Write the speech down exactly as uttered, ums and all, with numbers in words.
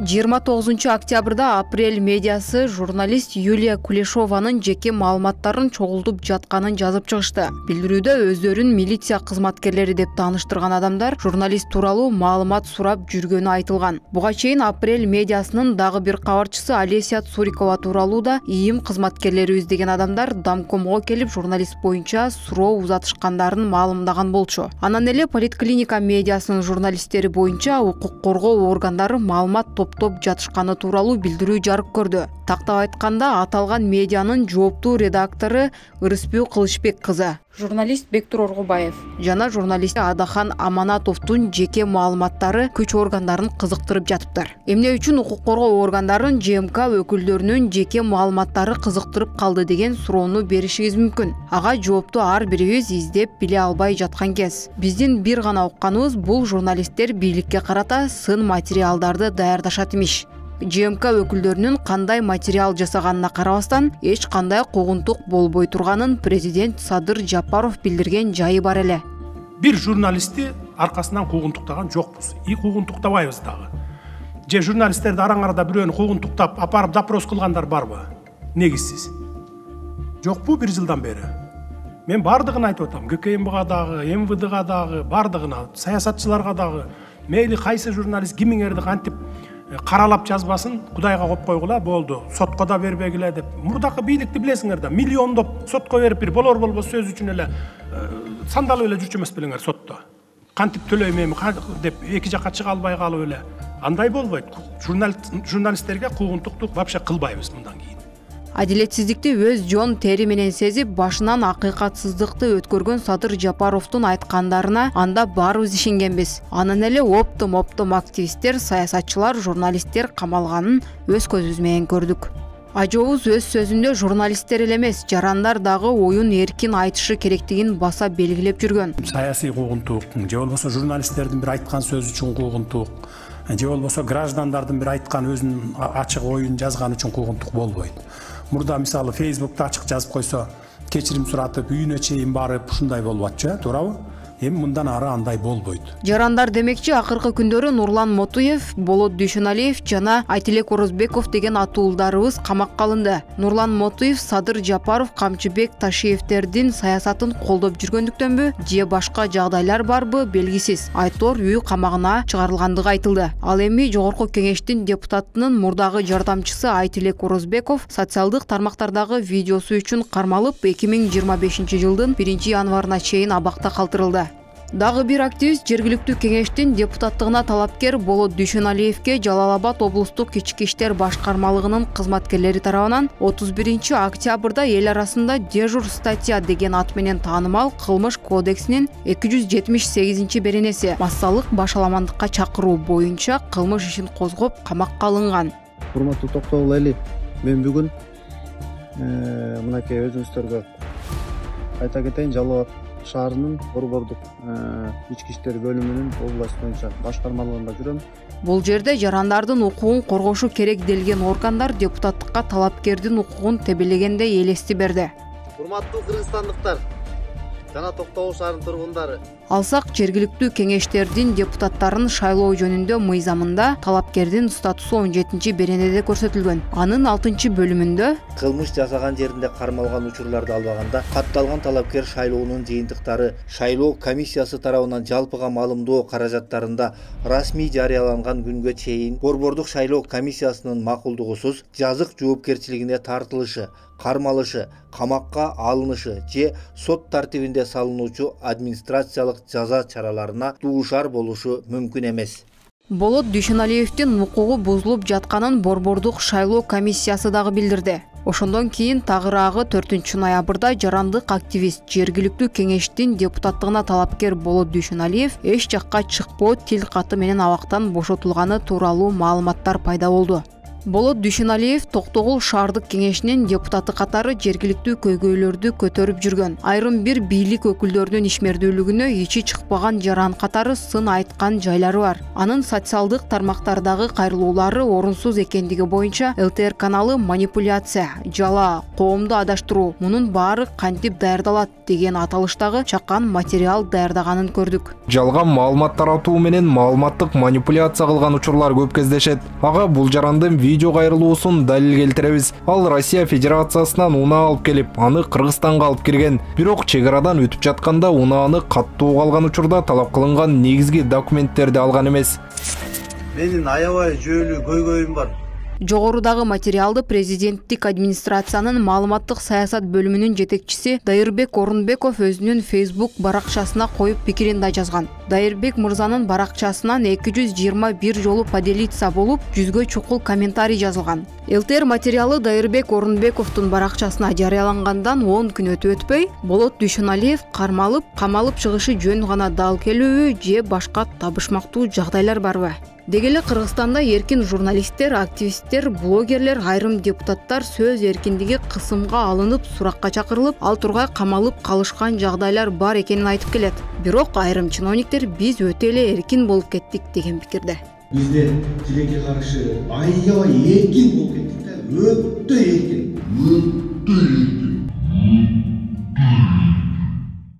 жыйырма тогузунчу октябрда Апрель медиасы журналист Юлия Кулешованын жеке маалыматтарын чогултуп жатканын жазып чыгышты. Билдирүүдө өздөрүн милиция кызматкерлери деп тааныштырган адамдар журналист тууралуу маалымат сурап жүргөнү айтылган. Буга чейин Апрель медиасынын дагы бир кабарчысы Олеся Цурикова тууралуу да ИИМ кызматкерлерибиз деген адамдар Домкомго келип журналист боюнча суроо узатышкандарын маалымдаган болчу. Анан эле Политклиника медиасынын журналисттери боюнча укук коргоо органдары маалымат топтоп жатышканы тууралуу билдирүү жарык көрдү. Тактап айтканда, аталган медианын жооптуу редактору Ырысбүү Кылычбек кызы, журналист Бектур Оргубаев жана журналист Адахан Аманатовдун жеке маалыматтары күч органдарын кызыктырып жатыптыр. Эмне үчүн укук коргоо органдарын ЖМК өкүлдөрүнүн жеке маалыматтары кызыктырып калды деген суроону беришиңиз мүмкүн. Ага жоопту ар бирибиз издеп биле албай жаткан кез. Биздин бир гана укканыбыз бул журналисттер бийликке карата сын материалдарды даярдашат имиш. ЖМК өкүлдөрүнүн кандай материал жасаганына карабастан эч кандай куугунтук болбой турганын президент Садыр Жапаров билдирген жайы бар эле. Бир журналистти аркасынан куугунтуктаган жокпуз. И куугунтуктабайбыз дагы. Же журналисттерди араң арада бирөөнү куугунтуктап апарып допрос кылгандар барбы? Негизсиз. Жокпу бир жылдан бери. Мен бардыгын айтып атам. ГКМБга дагы, МВДга дагы, бардыгына, саясатчыларга дагы, мейли кайсы журналист кимиңерди кантип каралап жазбасын, Кудайга коюп койгула, болду. Сотко да бербегиле деп. Мурдакы бийликти билесиңер да, миллиондоп сотко берип бир болор болбос сөз үчүн эле сандалып эле жүрчү эмес белеңер сотто. Кантип төлөйм эми деп эки жакка чыга албай калып эле. Андай болбойт. Журналисттерге куугунтукту вообще кылбайбыз мындан кийин. Адилетсиздикти өз жон тери менен сезип, башынан акыйкатсыздыкты өткөргөн Садыр Жапаровдун айткандарына анда баарыбыз ишенгенбиз. Анан эле оптом-оптом активисттер, саясатчылар, журналисттер камалганын өз көзүбүз менен көрдүк. Ажообуз өз сөзүндө журналисттер эле эмес, жарандар дагы оюн эркин айтышы керектигин баса белгилеп жүргөн. Саясий куугунтук, же болбосо журналисттердин бир айткан сөзү үчүн куугунтук, же болбосо граждандардын бир айткан өзүнүн ачык оюн жазган үчүн куугунтук болбойт. Мурда мисалы Facebook'та ачык жазып койсо, кечирим суратып, үйүнө чейин барып, ушундай болуп атчу, туурабы? Эми мындан ары андай болбойт. Жарандар демекчи, акыркы күндөрү Нурлан Мотуев, Болот Дүйшөналиев жана Айтилек Орозбеков деген атуулдарыбыз камакка алынды. Нурлан Мотуев Садыр Жапаров, Камчыбек Ташиевтердин саясатын колдоп жүргөндүктөнбү, же башка жагдайлар барбы белгисиз. Айтор үй камагына чыгарылгандыгы айтылды. Ал эми Жогорку Кеңештин депутатынын мурдагы жардамчысы Айтилек Орозбеков социалдык тармактардагы видеосу үчүн кармалып, эки миң жыйырма бешинчи жылдын биринчи январына чейин абакта калтырылды. Дагы бир активист жергиликтүү кеңештин депутаттыгына талапкер Болот Дүйшөналиевке Жалал Абад облустук ички иштер башкармалыгынын кызматкерлери тарабынан отуз биринчи октябрда эл арасында дежур статья деген ат менен таанымал Кылмыш кодексинин эки жүз жетимиш сегизинчи беренеси массалык башаламандыкка чакыруу боюнча кылмыш ишин козгоп камакка алынган. Урматтуу токтогул эли, мен бүгүн мынакей өзүңүздөргө айта кетейин, Жалал Абад шаарынын Борбордук ички иштер бөлүмүнүн область боюнча башкармалыгында жүрөм. Бул жерде жарандардын укугун коргошу керек делген органдар депутаттыкка талапкердин укугун тебелегендей элести берди. Урматтуу кыргызстандыктар жана Токтогул шаарынын тургундары, алсак жергиликтүү кеңештердин депутаттарын шайлоо жөнүндө мыйзамында талапкердин статусу он жетинчи беренеде көрсөтүлгөн. Анын алтынчы бөлүмүндө кылмыш жасаган жеринде кармалган учурларды албаганда катталган талапкер шайлоонун жыйынтыктары шайлоо комиссиясы тарабынан жалпыга маалымдоо каражаттарында расмий жарыяланган күнгө чейин Борбордук шайлоо комиссиясынын макулдугусуз жазык жоопкерчилигине тартылышы, кармалышы, камакка алынышы же сот тартибинде салынуучу администрациялык жаза чараларына дуушар болушу мүмкүн эмес. Болот Дүйшөналиевдин укугу бузулуп жатканын Борбордук шайлоо комиссиясы дагы билдирди. Ошондон кийин тагыраагы төртүнчү ноябрда жарандык активист жергиликтүү кеңештин депутаттыгына талапкер Болот Дүйшөналиев эч жакка чыкпоо тил каты менен абактан бошотулганы тууралуу маалыматтар пайда болду. Болот Дүйшөналиев Токтогул шаардык кеңешинин депутаты катары жергиликтүү көйгөйлөрдү көтөрүп жүргөн. Айрым бир бийлик өкүлдөрүнүн ишмердүүлүгүнө ичи чыкпаган жаран катары сын айткан жайлары бар. Анын социалдык тармактардагы кайрылуулары орунсуз экендиги боюнча эл тэ эр каналы манипуляция, жала, коомду адаштыруу, мунун баары кантип даярдалат деген аталыштагы чакан материал даярдаганын көрдүк. Жалган маалымат таратуу менен маалыматтык манипуляция кылган учурлар көп кездешет. Ага бул жарандын видео кайрылуусун далил келтиребиз. Ал Россия Федерациясынан унаа алып келип, аны Кыргызстанга алып кирген. Бирок чек арадан өтүп жатканда унааны каттуу калган учурда талап кылынган негизги документтерди алган эмес. Менин аябай жүйөлүү көйгөйүм бар. Жогорудагы материалды президенттик администрациянын маалыматтык саясат бөлүмүнүн жетекчиси Дайырбек Орунбеков өзүнүн Facebook баракчасына коюп пикирин да жазган. Дайырбек мырзанын баракчасынан эки жүз жыйырма бир жолу поделиться болуп, жүзгө чукул комментарий жазылган. эл тэ эр материалы Дайырбек Орунбековдун баракчасына жарыялангандан он күн өтүп өтпөй, Болот Дүйшөналиев кармалып, камалып чыгышы жөн гана дал келүүбү же башка табышмактуу жагдайлар барбы? Деги эле Кыргызстанда эркин журналисттер, активисттер, блогерлер, айрым депутаттар сөз эркиндиги кысымга алынып, суракка чакырылып, ал тургай камалып калышкан жагдайлар бар экенин айтып келет. Бирок айрым чиновниктер биз өтө эле эркин болуп кеттик деген пикирде. Бизде тилекке каршы аябай эркин болуп кеттик да, өтө эркин. Өтө эркин.